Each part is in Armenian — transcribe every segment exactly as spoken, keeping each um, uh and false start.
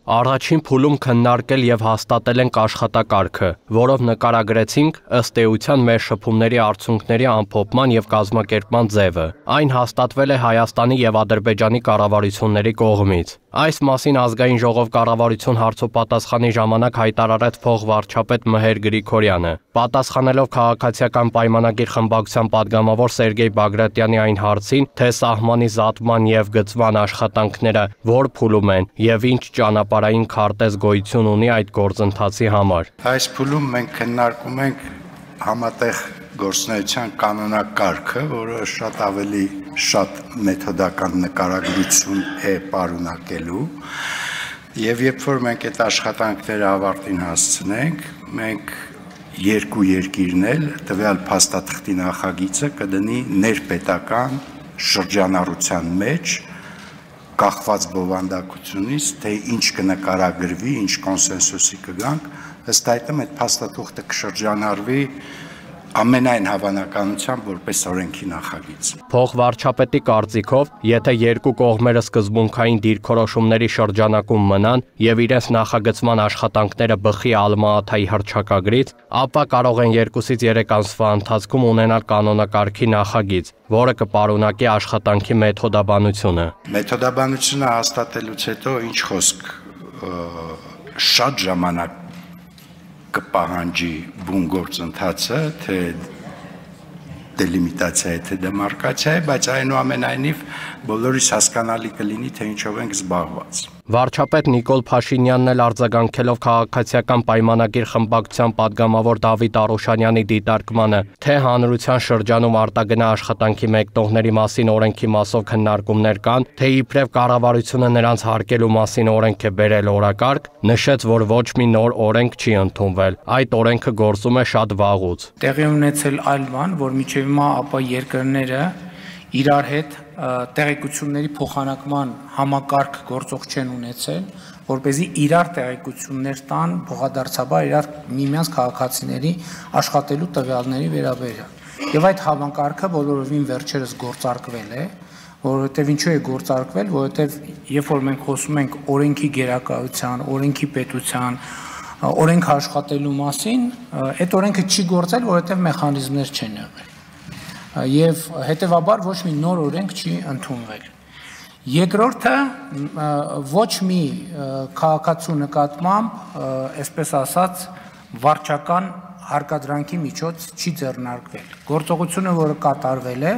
Առաջին փուլում քննարկել եւ հաստատել ենք աշխատակարգը, որով նկարագրեցինք ըստ էության մեր շփումների արդյունքների ամփոփման եւ կազմակերպման ձևը։ Այն հաստատվել է Հայաստանի եւ Ադրբեջանի կառավարությունների կողմից։ Այս մասին ազգային ժողով կառավարություն հարցոպատասխանի ժամանակ հայտարարեց փոխվարչապետ Մհեր Գրիգորյանը։ Պատասխանելով քաղաքացիական պայմանագիր խմբակցության падգամավոր Սերգեյ Բագրատյանի այն հարցին, թե սահմանի զատման եւ գծման աշխատանքները որ փուլում են եւ ինչ ճանապարհային քարտեզ գոյություն ունի այդ գործընթացի համար։ Այս փուլում մենք քննարկում ենք համատեղ գործունեության կանոնակարգը, որը շատ ավելի շատ մեթոդական նկարագրություն է պարունակելու, եւ երբ որ մենք այդ աշխատանքները ավարտին հասցնենք, մենք երկու երկիրն էլ տվյալ փաստաթղթի նախագիծը կդնի ներպետական շրջանառության մեջ, կախված բովանդակությունից, թե ինչ կնկարագրվի, ինչ կոնսենսուսի կգանք, ըստ այդմ այդ փաստաթուղթը կշրջանառվի ամենայն հավանականությամբ որպես օրենքի նախագիծ։ Փոխվարչապետի կարծիքով, եթե երկու կողմերը սկզբունքային դիրքորոշումների շրջանակում մնան եւ իրենց նախագծման աշխատանքները բխի Ալմա-Աթայի հռչակագրից, ապա կարող են երկուսից երեք ամսվա ընթացքում ունենալ կանոնակարգի նախագիծ, որը կպարունակի աշխատանքի մեթոդաբանությունը։ Մեթոդաբանությունը հաստատելուց հետո ինչ խոսք շատ ժամանակ կպահանջի բուն գործընթացը, թե դելիմիտացիա է, թե դեմարկացիա է, բայց այնուամենայնիվ բոլորիս հասկանալի կլինի, թե ինչով ենք զբաղված։ Վարչապետ Նիկոլ Փաշինյանն էլ արձագանքելով քաղաքացիական պայմանագիր խմբակցության падգամավոր Դավիթ Արոշանյանի դիտարկմանը, թե հանրության շրջանում արտագնա աշխատանքի մեկնողների մասին օրենքի մասով քննարկումներ կան, թե իբրև կառավարությունը նրանց հարկելու մասին օրենք է բերել օրակարգ, նշեց, որ ոչ մի նոր օրենք չի ընդունվել, այդ օրենքը գործում է շատ վաղուց։ Տեղի ունեցել այլ բան, որ մինչև հիմա ապա երկրները իրար հետ տեղեկությունների փոխանակման համակարգ գործող չեն ունեցել, որպեսզի իրար տեղեկություններ տան փոխադարձաբար իրար միմյանց քաղաքացիների աշխատելու տվյալների վերաբերյալ։ Եվ այդ համակարգը բոլորովին վերջերս գործարկվել է, որովհետև ինչու է գործարկվել, որովհետև երբ որ մենք խոսում ենք օրենքի գերակայության, օրենքի պետության, օրենք աշխատելու մասին, այդ օրենքը չի գործել, որովհետև մեխանիզմներ չեն եղել։ Եվ հետևաբար ոչ մի նոր օրենք չի ընդունվել։ Երկրորդը ոչ մի քաղաքացու նկատմամբ, այսպես ասած, վարչական հարկադրանքի միջոց չի ձեռնարկվել։ Գործողությունը, որը կատարվել է,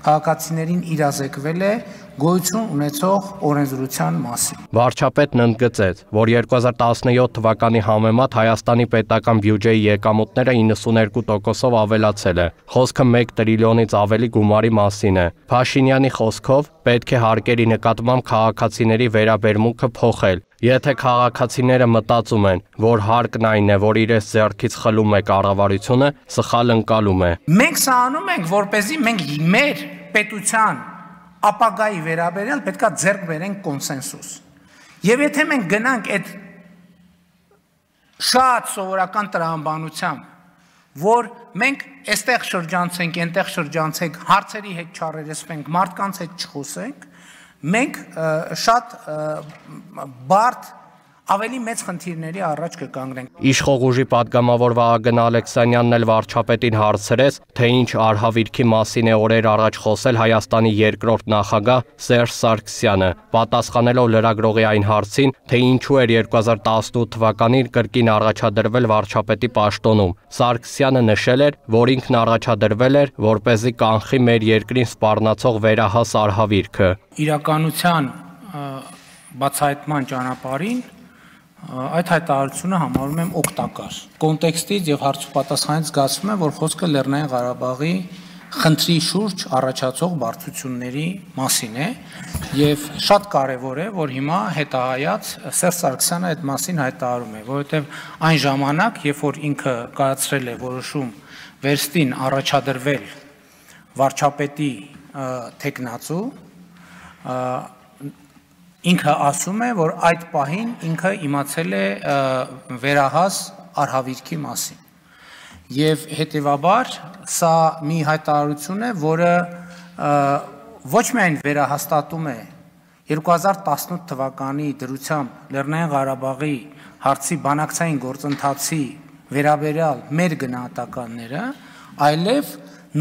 քաղաքացիներին իրազեկվել է գոյություն ունեցող օրենսդրության մասին։ Վարչապետն ընդգծեց, որ երկու հազար տասնյոթ թվականի համեմատ Հայաստանի պետական բյուջեի եկամուտները իննսուներկու տոկոսով ավելացել է։ Խոսքը մեկ տրիլիոնից ավելի գումարի մասին է։ Փաշինյանի խոսքով պետք է հարկերի նկատմամբ քաղաքացիների վերաբերմունքը փոխել։ Եթե քաղաքացիները մտածում են, որ հարկն այն է, որ իրենց ձեռքից խլում է կառավարությունը, սխալ ընկալում է։ Մենք սա անում ենք, որպեսզի մենք մեր պետության ապագայի վերաբերյալ պետքա ձեռք բերենք կոնսենսուս։ Եվ եթե մենք գնանք այդ շատ սովորական տրամաբանությամբ, որ մենք այստեղ շրջանցենք, այնտեղ շրջանցենք, հարցերի հետ չառերեսվենք, մարդկանց հետ չխոսենք, մենք շատ բարդ ավելի մեծ խնդիրների առաջ կկանգնենք։ Իշխող ուժի падգամավոր Վահագն Ալեքսանյանն էլ վարչապետին հարցրեց, թե ինչ արհավիրքի մասին է օրեր առաջ խոսել Հայաստանի երկրորդ նախագահ Սերժ Սարգսյանը, պատասխանելով լրագրողի այն հարցին, թե ինչու էր երկու հազար տասնութ թվականին կրկին առաջադրվել վարչապետի պաշտոնում։ Սարգսյանը նշել էր, որ ինքն առաջադրվել էր, որպեսզի կանխի մեր երկրին սպառնացող վերահաս արհավիրքը։ Իրականության բացահայտման ճանապարհին այդ հայտարարությունը համարում եմ օգտակար։ Կոնտեքստից եւ հարցուպատասխանից զգացվում է, որ խոսքը Լեռնային Ղարաբաղի խնդրի շուրջ առաջացող բարդությունների մասին է եւ շատ կարեւոր է, որ հիմա հետահայաց Սերժ Սարգսյանը այդ մասին հայտարարում է, որովհետեւ այն ժամանակ, երբ որ ինքը կայացրել է որոշում վերստին առաջադրվել վարչապետի թեկնածու, ինքը ասում է, որ այդ պահին ինքը իմացել է վերահաս արհավիրքի մասին։ Եվ հետևաբար սա մի հայտարարություն է, որը ոչ միայն վերահաստատում է երկու հազար տասնութ թվականի դրությամբ Լեռնային Ղարաբաղի հարցի բանակցային գործընթացի վերաբերյալ մեր գնահատականները, այլև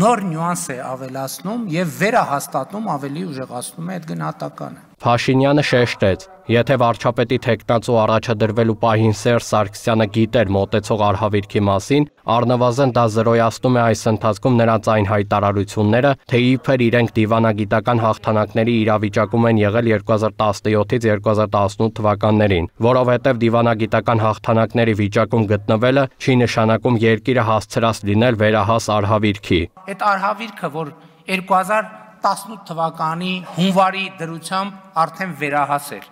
նոր նյուանս է ավելացնում եւ վերահաստատում, ավելի ուժեղացնում է այդ գնահատականը։ Փաշինյանը շեշտեց, եթե վարչապետի թեկնածու առաջադրվելու պահին Սերժ Սարգսյանը գիտեր մոտեցող արհավիրքի մասին, առնվազն դա զրոյացնում է այս ընթացքում նրանց այն հայտարարությունները, թե իբր իրենք դիվանագիտական հաղթանակների իրավիճակում են եղել երկու հազար տասնյոթից երկու հազար տասնութ թվականներին, որովհետև դիվանագիտական հաղթանակների վիճակում գտնվելը չի նշանակում երկիրը հասցրած լինել վերահաս արհավիրքի։ Այդ արհավիրքը, որ երկու հազար տասնութ թվականի հունվարի դրությամբ արդեն վերահաս էր,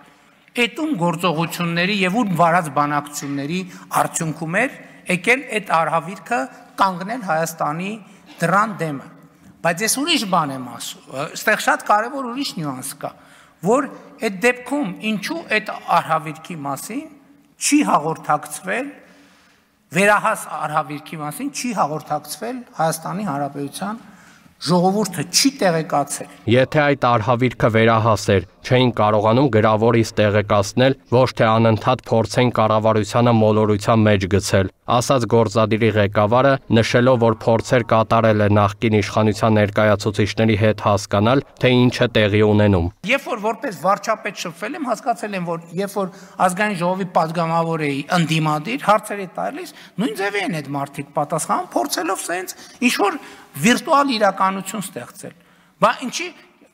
այդում գործողությունների եւ ու վարած բանակցությունների արդյունքում էր եկել այդ արհավիրքը կանգնել Հայաստանի դրան դեմը։ Բայց ես ուրիշ բան եմ ասում, այստեղ շատ կարևոր ուրիշ նյուանս կա, որ այդ դեպքում ինչու այդ արհավիրքի մասին չի հաղորդակցվել, վերահաս արհավիրքի մասին չի հաղորդակցվել Հայաստանի Հանրապետության ժողովուրդը չի տեղեկացել։ Եթե այդ արհավիրքը վերահաս էր, չէին կարողանում գրավորից տեղեկացնել, ոչ թե անընդհատ փորձեն կառավարությանը մոլորության մեջ գցել, ասաց գործադիրի ղեկավարը, նշելով, որ փորձեր կատարել է նախկին իշխանության ներկայացուցիչների հետ հասկանալ, թե ինչ է տեղի ունենում։ Երբ որ որպես վարչապետ շփվել եմ, հասկացել եմ, որ երբ որ ազգային ժողովի падգամավոր էի ընդդիմադիր, հարցեր է տալիս, նույն ձևի են այդ մարդիկ պատասխանում, փորձելով սենց ինչ որ վիրտուալ իրականություն ստեղծել։ Բա ինչի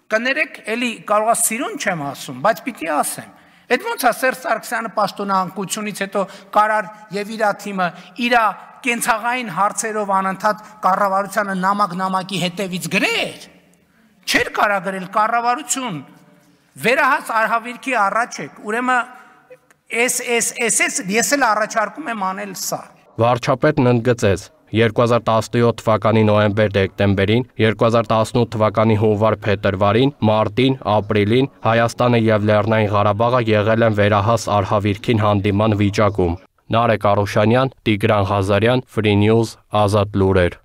կներեք, էլի կարող է սիրուն չեմ ասում, բայց պիտի ասեմ։ Այդ ոնց է Սերժ Սարգսյանը պաշտոնանկությունից հետո կարար եւ իր թիմը իր կենցաղային հարցերով անընդհատ կառավարությանը նամակ-նամակի հետևից գրեր։ Չէր կարա գրել կառավարություն։ Վերահաս արհավիրքի առաջ եք, ուրեմն էս էս էս էս ես էլ առաջարկում եմ անել սա։ Վարչապետն ընդգծեց. երկու հազար տասնյոթ թվականի նոյեմբեր-դեկտեմբերին, երկու հազար տասնութ թվականի հունվար-փետրվարին, մարտին, ապրիլին Հայաստանը եւ Լեռնային Ղարաբաղը եղել են վերահաս արհավիրքին հանդիման վիճակում։ Նարեկ Արուշանյան, Տիգրան Ղազարյան, Free News, Ազատ լուրեր։